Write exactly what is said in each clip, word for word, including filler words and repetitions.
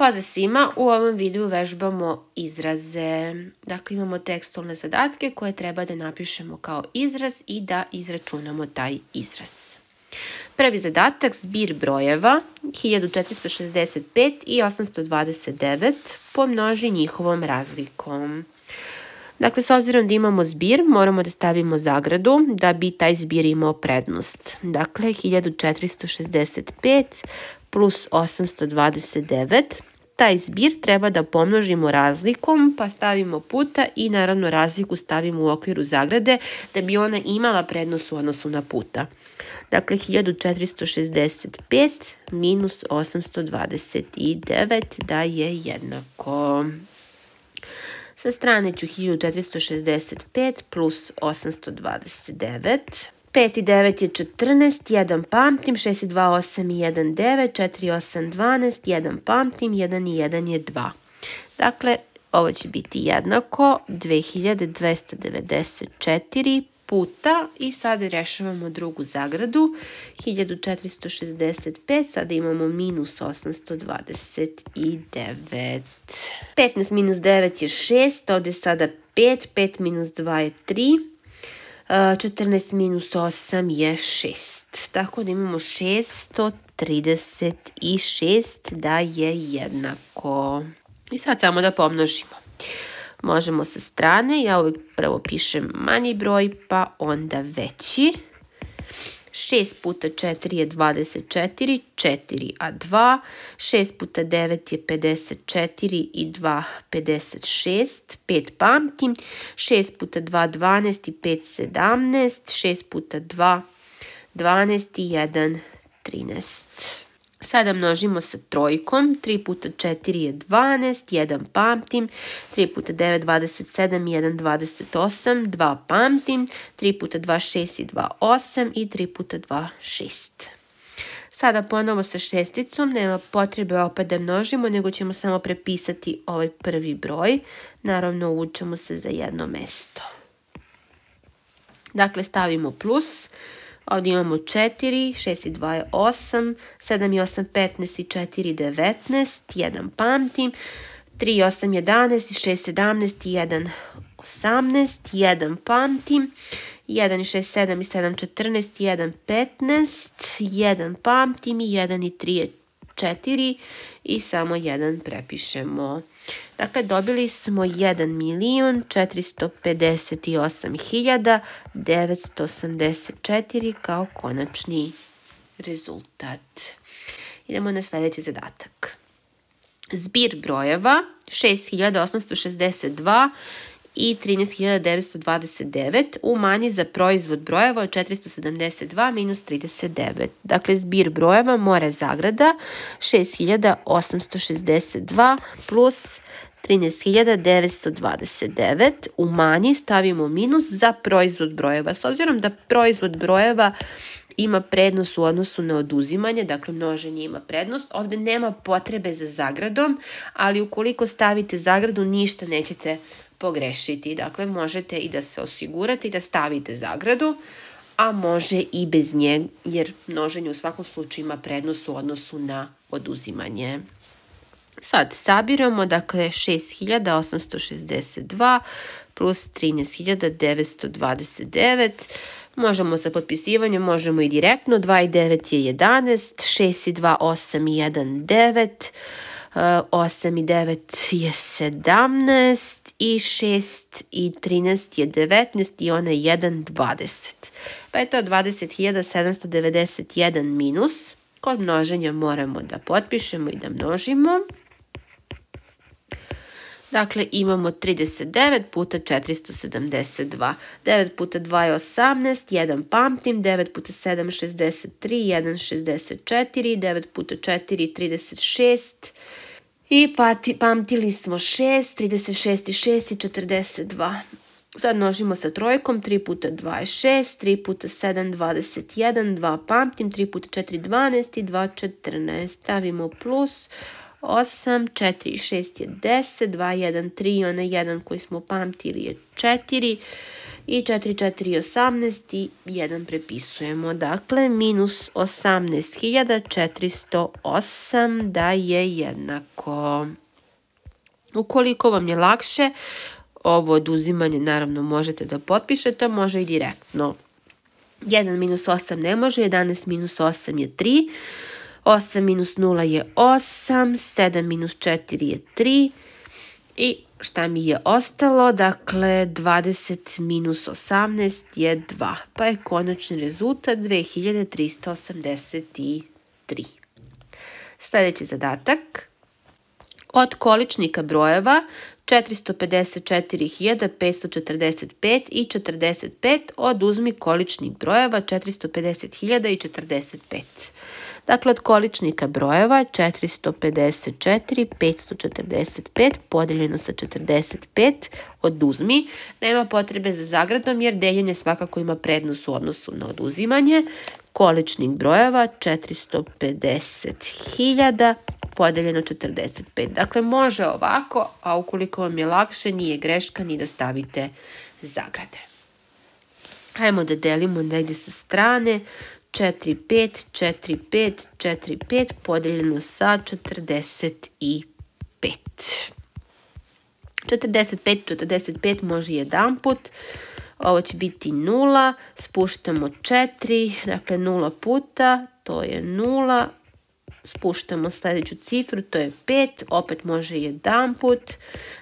Pozdrav svima, u ovom videu vežbamo izraze. Dakle, imamo tekstualne zadatke koje treba da napišemo kao izraz i da izračunamo taj izraz. Prvi zadatak, zbir brojeva hiljadu četiristo šezdeset pet i osamsto dvadeset devet pomnoži njihovom razlikom. Dakle, s obzirom da imamo zbir, moramo da stavimo zagradu da bi taj zbir imao prednost. Dakle, hiljadu četiristo šezdeset pet plus osamsto dvadeset devet. Taj zbir treba da pomnožimo razlikom, pa stavimo puta i naravno razliku stavimo u okviru zagrade da bi ona imala prednost u odnosu na puta. Dakle, hiljadu četiristo šezdeset pet minus osamsto dvadeset devet da je jednako. Sa strane ću hiljadu četiristo šezdeset pet plus osamsto dvadeset devet. pet i devet je četrnaest, jedan pamtim, šest i dva osam i jedan devet, četiri i osam dvanaest, jedan pamtim, jedan i jedan je dva. Dakle, ovo će biti jednako dve hiljade dvesta devedeset četiri puta i sada rešavamo drugu zagradu, hiljadu četiristo šezdeset pet, sada imamo minus osamsto dvadeset devet. petnaest minus devet je šest, ovdje je sada pet, pet minus dva je tri. četrnaest minus osam je šest. Tako da imamo šesto trideset šest da je jednako. I sad samo da pomnožimo. Možemo sa strane, ja uvijek prvo pišem manji broj pa onda veći. šest puta četiri je dvadeset četiri, četiri a dva, šest puta devet je pedeset četiri i dva pedeset šest, pet pamtim, šest puta dva dvanaest i pet sedamnaest, šest puta dva dvanaest i jedan trinaest. Sada množimo sa trojkom, tri puta četiri je dvanaest, jedan pamtim, tri puta devet dvadeset sedam i jedan dvadeset osam, dva pamtim, tri puta dva šest i dva osam i tri puta dva šest. Sada ponovo sa šesticom, nema potrebe opet da množimo, nego ćemo samo prepisati ovaj prvi broj. Naravno, uvučemo se za jedno mesto. Dakle, stavimo plus. Ovdje imamo četiri, šest i dva je osam, sedam i osam petnaest i četiri devetnaest, jedan pamtim, tri i osam jedanaest i šest sedamnaest i jedan osamnaest, jedan pamtim, jedan i šest sedam i sedam četrnaest i jedan petnaest, jedan pamtim i jedan i tri je četiri i samo jedan prepišemo. Dakle, dobili smo jedan milion četiristo pedeset osam hiljada devetsto osamdeset četiri kao konačni rezultat. Idemo na sljedeći zadatak. Zbir brojeva šest hiljada osamsto šezdeset dva i trinaest hiljada devetsto dvadeset devet umanji za proizvod brojeva od četiristo sedamdeset dva minus trideset devet. Dakle, zbir brojeva mora zagrada šest hiljada osamsto šezdeset dva plus trinaest hiljada devetsto dvadeset devet umanji, stavimo minus za proizvod brojeva. S obzirom da proizvod brojeva ima prednost u odnosu na oduzimanje, dakle množenje ima prednost, ovdje nema potrebe za zagradom, ali ukoliko stavite zagradu ništa nećete pogrešiti. Dakle, možete i da se osigurate i da stavite zagradu, a može i bez nje, jer množenje u svakom slučaju ima prednost u odnosu na oduzimanje. Sad sabiramo, dakle, šest hiljada osamsto šezdeset dva plus trinaest hiljada devetsto dvadeset devet. Možemo sa potpisivanjem, možemo i direktno. dva i devet je jedanaest, šest i dva osam i jedan devet, osam i devet je sedamnaest i šest i trinaest je devetnaest i onaj jedan dvadeset. Pa je to dvadeset hiljada sedamsto devedeset jedan minus. Kod množenja moramo da potpišemo i da množimo. Dakle, imamo trideset devet puta četiristo sedamdeset dva. devet puta dva je osamnaest, jedan pamtim, devet puta sedam šezdeset tri, jedan šezdeset četiri, devet puta četiri trideset šest. I pamtili smo šest, trideset šest i šest i četrdeset dva. Sad množimo sa trojkom, tri puta dva je šest, tri puta sedam dvadeset jedan, dva pamtim, tri puta četiri dvanaest i dva četrnaest. Stavimo plus osam, četiri i šest je deset, dva, jedan, tri, onaj jedan koji smo pamtili je četiri I četiri, četiri, osamnaest i jedan prepisujemo. Dakle, minus osamnaest hiljada četiristo osam da je jednako. Ukoliko vam je lakše, ovo oduzimanje naravno možete da potpišete, može i direktno. jedan minus osam ne može, jedanaest minus osam je tri, osam minus nula je osam, sedam minus četiri je tri i šta mi je ostalo? Dakle, dvadeset minus osamnaest je dva, pa je konačni rezultat dve hiljade trista osamdeset tri. Sljedeći zadatak. Od količnika brojeva četiristo pedeset četiri hiljade petsto četrdeset pet i četrdeset pet oduzmi količnik brojeva četiristo pedeset hiljada i četrdeset pet. Dakle, od količnika brojeva četiristo pedeset četiri petsto četrdeset pet podeljeno sa četrdeset pet oduzmi. Nema potrebe za zagradom jer deljenje svakako ima prednost u odnosu na oduzimanje. Količnik brojeva četiristo pedeset hiljada podeljeno četrdeset pet. Dakle, može ovako, a ukoliko vam je lakše, nije greška ni da stavite zagrade. Hajmo da delimo negdje sa strane. četiri, pet, četiri, pet, četiri, pet podeljeno sa četrdeset pet. četrdeset pet, četrdeset pet može jedan put. Ovo će biti nula. Spuštamo četiri, dakle nula puta, to je nula. Spuštamo sljedeću cifru, to je pet, opet može jedan put.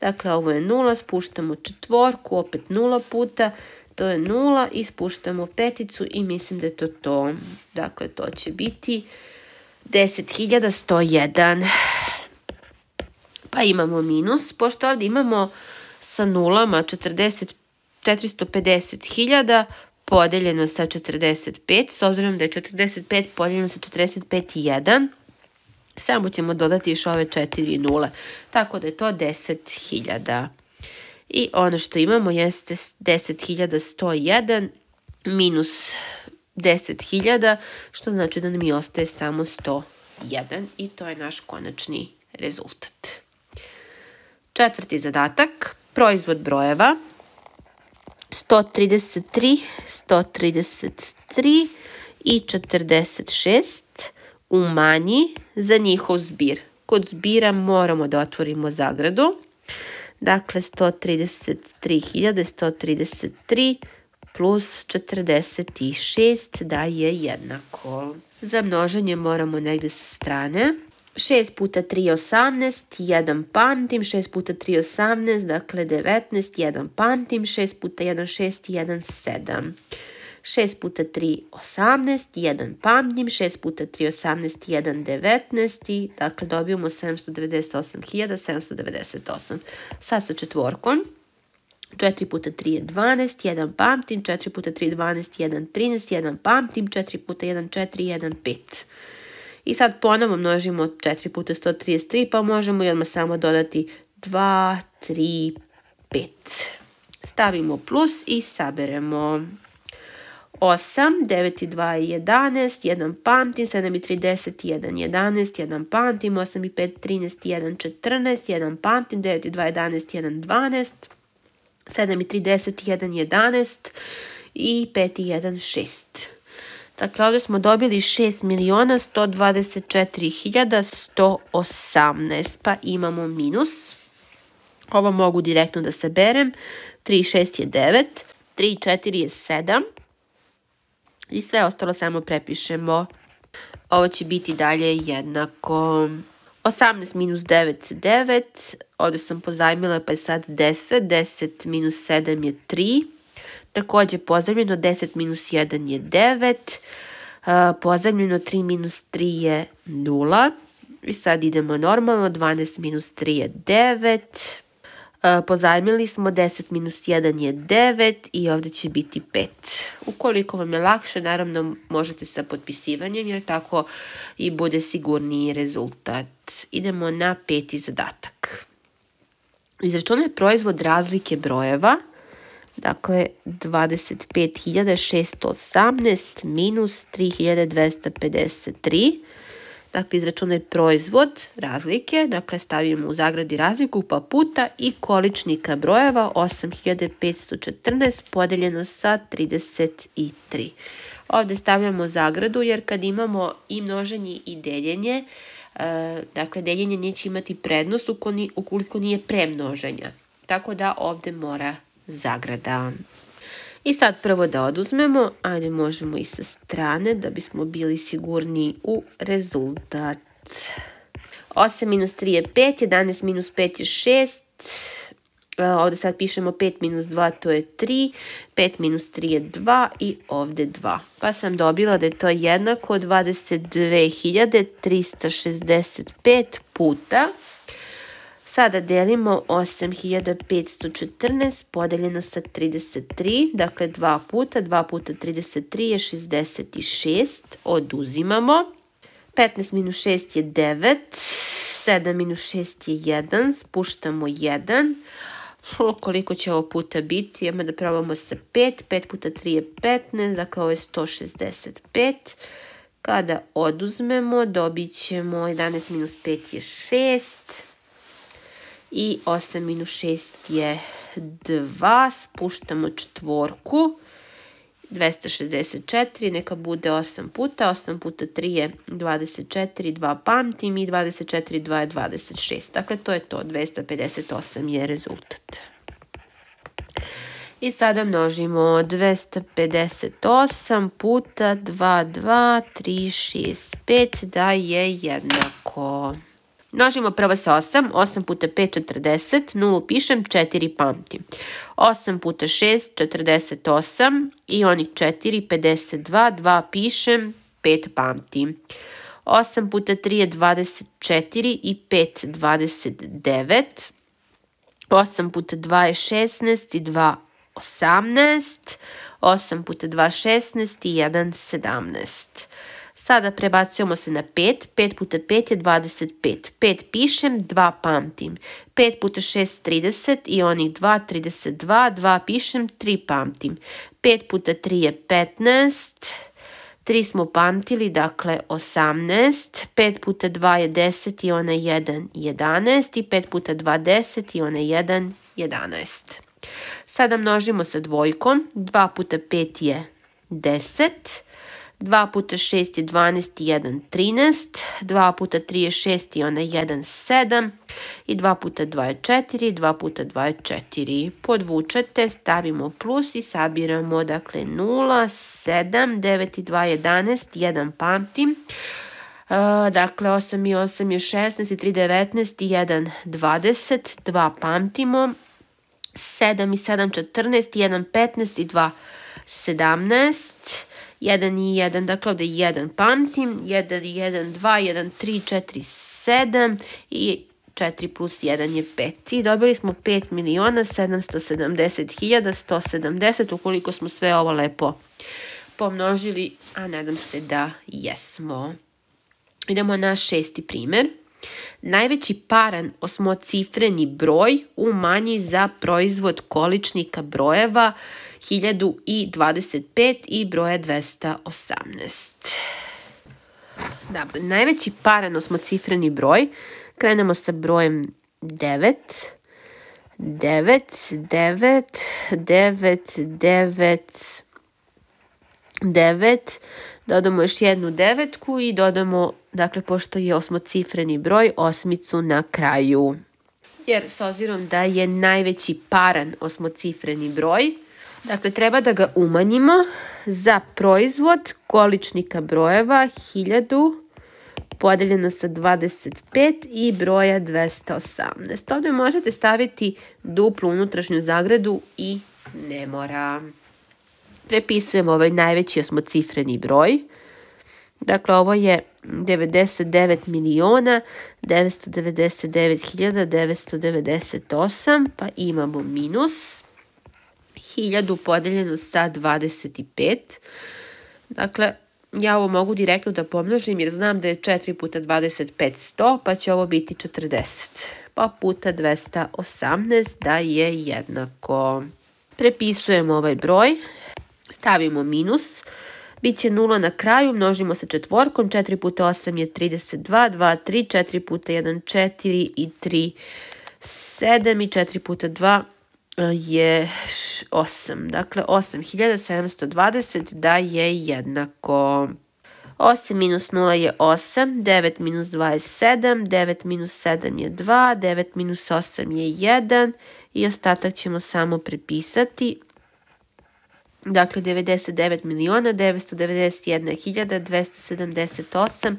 Dakle, ovo je nula, spuštamo četvorku, opet nula puta. To je nula i spuštamo peticu i mislim da je to to. Dakle, to će biti deset hiljada sto jedan. Pa imamo minus, pošto ovdje imamo sa nulama četiristo pedeset hiljada podeljeno sa četrdeset pet. S obzirom da je četrdeset pet podeljeno sa četrdeset pet jedan, samo ćemo dodati još ove četiri nule. Tako da je to deset hiljada. I ono što imamo jeste deset hiljada sto jedan minus deset hiljada, što znači da nam i ostaje samo sto jedan i to je naš konačni rezultat. Četvrti zadatak, proizvod brojeva sto trideset tri, sto trideset tri i četrdeset šest umanji za njihov zbir. Kod zbira moramo da otvorimo zagradu. Dakle, sto trideset tri hiljade sto trideset tri plus četrdeset šest da je jednako. Za množenje moramo negdje sa strane. šest puta tri je osamnaest, jedan pamtim, šest puta tri je osamnaest, dakle devetnaest, jedan pamtim, šest puta jedan šest, jedan sedam. šest puta tri osamnaest, jedan pamtim, šest puta tri osamnaest, jedan devetnaest, dakle dobijemo sedamsto devedeset osam hiljada sedamsto devedeset osam. Sad sa četvorkom, četiri puta tri je dvanaest, jedan pamtim, četiri puta tri je dvanaest, jedan trinaest, jedan pamtim, četiri puta jedan četiri, jedan pet. I sad ponovo množimo četiri puta sto trideset tri, pa možemo i odmah samo dodati dva, tri, pet. Stavimo plus i saberemo. osam, devet i dva je jedanaest, jedan pamtim, sedam i tri deset, jedan jedanaest, jedan pamtim, osam i pet trinaest, jedan četrnaest, jedan pamtim, devet i dva jedanaest, jedan dvanaest, sedam i tri deset, jedan jedanaest i pet i jedan šest. Dakle, ovdje smo dobili šest miliona sto dvadeset četiri hiljade sto osamnaest, pa imamo minus. Ovo mogu direktno da saberem. tri i šest je devet, tri i četiri je sedam i sve ostalo samo prepišemo. Ovo će biti dalje jednako. osamnaest minus devet je devet, ovdje sam pozajmila pa je sad deset, deset minus sedam je tri. Također pozajmljeno deset minus jedan je devet, pozajmljeno tri minus tri je nula. I sad idemo normalno, dvanaest minus tri je devet, pozajmili smo deset minus jedan je devet i ovdje će biti pet. Ukoliko vam je lakše, naravno možete sa potpisivanjem jer tako i bude sigurniji rezultat. Idemo na peti zadatak. Izračunaj proizvod razlike brojeva. Dakle, dvadeset pet hiljada šesto osamnaest minus tri hiljade dvesta pedeset tri. dakle izračunaj proizvod razlike, dakle stavimo u zagradi razliku pa puta i količnika brojeva osam hiljada petsto četrnaest podeljeno sa trideset tri. Ovdje stavljamo zagradu jer kad imamo i množenje i deljenje, dakle deljenje neće imati prednost ukoliko nije premnoženja. Tako da ovdje mora zagrada. I sad prvo da oduzmemo, ajde možemo i sa strane da bismo bili sigurni u rezultat. osam minus tri je pet, jedanaest minus pet je šest, ovdje sad pišemo pet minus dva, to je tri, pet minus tri je dva i ovdje dva. Pa sam dobila da je to jednako dvadeset dve hiljade trista šezdeset pet puta. Sada delimo osam hiljada petsto četrnaest podeljeno sa trideset tri, dakle dva puta, dva puta trideset tri je šezdeset šest, oduzimamo. petnaest minus šest je devet, sedam minus šest je jedan, spuštamo jedan. Koliko će ovo puta biti? Idemo da probamo sa pet, pet puta tri je petnaest, dakle ovo je sto šezdeset pet. Kada oduzmemo dobit ćemo jedanaest minus pet je šest. I osam minus šest je dva, spuštamo četvorku, dvesta šezdeset četiri, neka bude osam puta, osam puta tri je dvadeset četiri, dva pamtim i dvadeset četiri, dva je dvadeset šest. Dakle, to je to, dvesta pedeset osam je rezultat. I sada množimo dvesta pedeset osam puta dva, dva, tri, šest, pet da je jednako. Množimo prvo sa osam, osam puta pet četrdeset, nulu pišem, četiri pamtim. osam puta šest, četrdeset osam i onih četiri, pedeset dva, dva pišem, pet pamtim. osam puta tri je dvadeset četiri i pet, dvadeset devet. osam puta dva je šesnaest i dva, osamnaest. osam puta dva šesnaest i jedan, sedamnaest. Sada prebacujemo se na pet, pet puta pet je dvadeset pet, pet pišem, dva pamtim, pet puta šest trideset i onih dva, trideset dva, dva pišem, tri pamtim, pet puta tri je petnaest, tri smo pamtili, dakle osamnaest, pet puta dva je deset i onaj jedan, jedanaest i pet puta dva deset i onaj jedan, jedanaest. Sada množimo sa dvojkom, dva puta pet je deset, dva puta šest je dvanaest i jedan, trinaest, dva puta tri je šest i onaj jedan, sedam i dva puta dva je četiri, dva puta dva je četiri. Podvučete, stavimo plus i sabiramo, dakle nula, sedam, devet i dva, jedanaest, jedan pamtim. Dakle, osam i osam je šesnaest i tri, devetnaest i jedan, dvadeset, dva pamtimo. sedam i sedam, četrnaest i jedan, petnaest i dva, sedamnaest. jedan i jedan, dakle ovdje jedan pamtim, jedan i jedan, dva, jedan, tri, četiri, sedam i četiri plus jedan je pet. I dobili smo pet miliona sedamsto sedamdeset hiljada sto sedamdeset ukoliko smo sve ovo lepo pomnožili, a nadam se da jesmo. Idemo na šesti primjer. Najveći paran osmocifreni broj umanji za proizvod količnika brojeva hiljadu dvadeset pet i broja dvesta osamnaest. Dobro, najveći paran osmocifreni broj, krenemo sa brojem devet, devet, devet, devet, devet, devet, dodamo još jednu devetku i dodamo, dakle, pošto je osmocifreni broj, osmicu na kraju. Jer s obzirom da je najveći paran osmocifreni broj, dakle, treba da ga umanjimo za proizvod količnika brojeva hiljadu podeljeno sa dvadeset pet i broja dvesta osamnaest. Ovdje možete staviti duplu unutrašnju zagradu i ne mora. Prepisujemo ovaj najveći osmocifreni broj. Dakle, ovo je devedeset devet miliona devetsto devedeset devet hiljada devetsto devedeset osam, pa imamo minus hiljadu podeljeno sa dvadeset pet. Dakle, ja ovo mogu direktno da pomnožim jer znam da je četiri puta dvadeset pet sto, pa će ovo biti četrdeset. Pa puta dvesta osamnaest da je jednako. Prepisujemo ovaj broj, stavimo minus. Biće nula na kraju, množimo sa četvorkom, četiri puta osam je trideset dva, dva, tri, četiri puta jedan, četiri i tri, sedam i četiri puta dva je osam. Dakle, osam hiljada sedamsto dvadeset da je jednako. osam minus nula je osam, devet minus dva je sedam, devet minus sedam je dva, devet minus osam je jedan i ostatak ćemo samo prepisati. Dakle, devedeset devet miliona devetsto devedeset jedna hiljada dvesta sedamdeset osam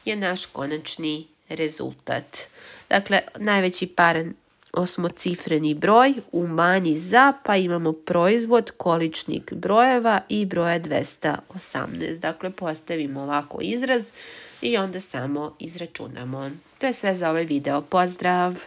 je naš konačni rezultat. Dakle, najveći paran osmocifreni broj umanji za, pa imamo proizvod, količnik brojeva i broja dvesta osamnaest. Dakle, postavimo ovako izraz i onda samo izračunamo. To je sve za ovaj video. Pozdrav!